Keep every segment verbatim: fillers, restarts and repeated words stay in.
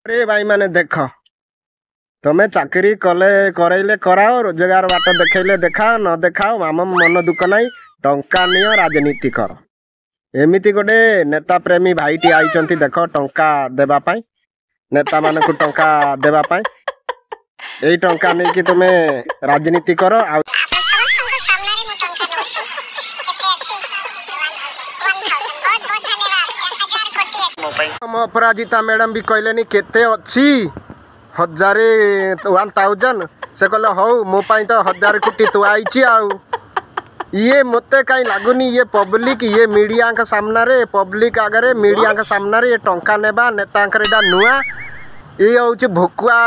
ରେ ଭାଇମାନେ ଦେଖ, ତମେ ଚାକିରି କଲେ କରେଇଲେ କରାଅ, ରୋଜଗାର ବାଟ ଦେଖେଇଲେ ଦେଖାଅ, ନ ଦେଖାଅ ଆମ ମନ ଦୁଃଖ ନାହିଁ। ଟଙ୍କା ନିଅ, ରାଜନୀତି କର। ଏମିତି ଗୋଟେ ନେତା ପ୍ରେମୀ ଭାଇଟି ଆଇଛନ୍ତି ଦେଖ, ଟଙ୍କା ଦେବା ପାଇଁ, ନେତାମାନଙ୍କୁ ଟଙ୍କା ଦେବା ପାଇଁ। ଏଇ ଟଙ୍କା ନେଇକି ତୁମେ ରାଜନୀତି କର। ଆଉ ଆପଣ ସମସ୍ତଙ୍କ ସାମ୍ନାରେ ମୁଁ ଟଙ୍କା ନଉଛି। କେତେ ଅଛି? One thousand. ବହୁତ ବହୁତ ଧନ୍ୟବାଦ। ହଜାର କୋଟି ଅଛି ମୋ ପାଇଁ। ଆମ ଅପରାଜିତା ମ୍ୟାଡ଼ାମ ବି କହିଲେନି କେତେ ଅଛି, ହଜାରେ, ୱାନ୍ ଥାଉଜେଣ୍ଡ। ସେ କହିଲେ ହଉ, ମୋ ପାଇଁ ତ ହଜାର କୋଟି ଥୁଆ ହେଇଛି। ଆଉ ଇଏ ମୋତେ କାହିଁ ଲାଗୁନି ଇଏ ପବ୍ଲିକ, ଇଏ ମିଡ଼ିଆଙ୍କ ସାମ୍ନାରେ, ପବ୍ଲିକ ଆଗରେ, ମିଡ଼ିଆଙ୍କ ସାମ୍ନାରେ ଇଏ ଟଙ୍କା ନେବା ନେତାଙ୍କର ଏଇଟା ନୂଆ। ଇଏ ହେଉଛି ଭୁକୁଆ,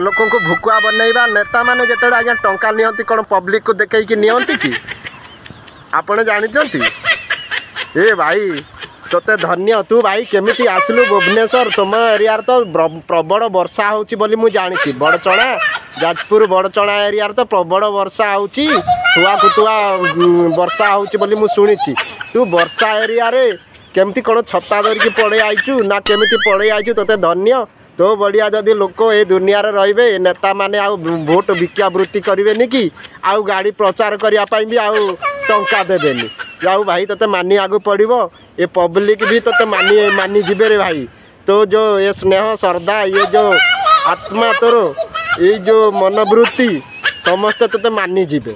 ଲୋକଙ୍କୁ ଭୁକୁଆ ବନେଇବା। ନେତାମାନେ ଯେତେବେଳେ ଆଜ୍ଞା ଟଙ୍କା ନିଅନ୍ତି, କ'ଣ ପବ୍ଲିକକୁ ଦେଖେଇକି ନିଅନ୍ତି କି? ଆପଣ ଜାଣିଛନ୍ତି? ଏ ଭାଇ, ତୋତେ ଧନ୍ୟ। ତୁ ଭାଇ କେମିତି ଆସିଲୁ ଭୁବନେଶ୍ୱର? ତୁମ ଏରିଆରେ ତ ପ୍ରବଳ ବର୍ଷା ହେଉଛି ବୋଲି ମୁଁ ଜାଣିଛି। ବଡ଼ଚଣା, ଯାଜପୁର ବଡ଼ଚଣା ଏରିଆରେ ତ ପ୍ରବଳ ବର୍ଷା ହେଉଛି, ତୁଆକୁ ତୁଆ ବର୍ଷା ହେଉଛି ବୋଲି ମୁଁ ଶୁଣିଛି। ତୁ ବର୍ଷା ଏରିଆରେ କେମିତି କ'ଣ ଛତା ଧରିକି ପଳେଇ ଆଇଛୁ ନା କେମିତି ପଳେଇ ଆଇଛୁ? ତୋତେ ଧନ୍ୟ। ତୋ ବଢ଼ିଆ ଯଦି ଲୋକ ଏ ଦୁନିଆରେ ରହିବେ, ଏ ନେତାମାନେ ଆଉ ଭୋଟ ଭିକ୍ଷାବୃତ୍ତି କରିବେନି କି ଆଉ ଗାଡ଼ି ପ୍ରଚାର କରିବା ପାଇଁ ବି ଆଉ ଟଙ୍କା ଦେବେନି। ଆଉ ଭାଇ, ତୋତେ ମାନିବାକୁ ପଡ଼ିବ। ଏ ପବ୍ଲିକ ବି ତୋତେ ମାନି ମାନିଯିବେ ରେ ଭାଇ। ତୋ ଯେଉଁ ଏ ସ୍ନେହ ଶ୍ରଦ୍ଧା, ଇଏ ଯେଉଁ ଆତ୍ମା ତୋର, ଏଇ ଯେଉଁ ମନୋବୃତ୍ତି, ସମସ୍ତେ ତୋତେ ମାନିଯିବେ।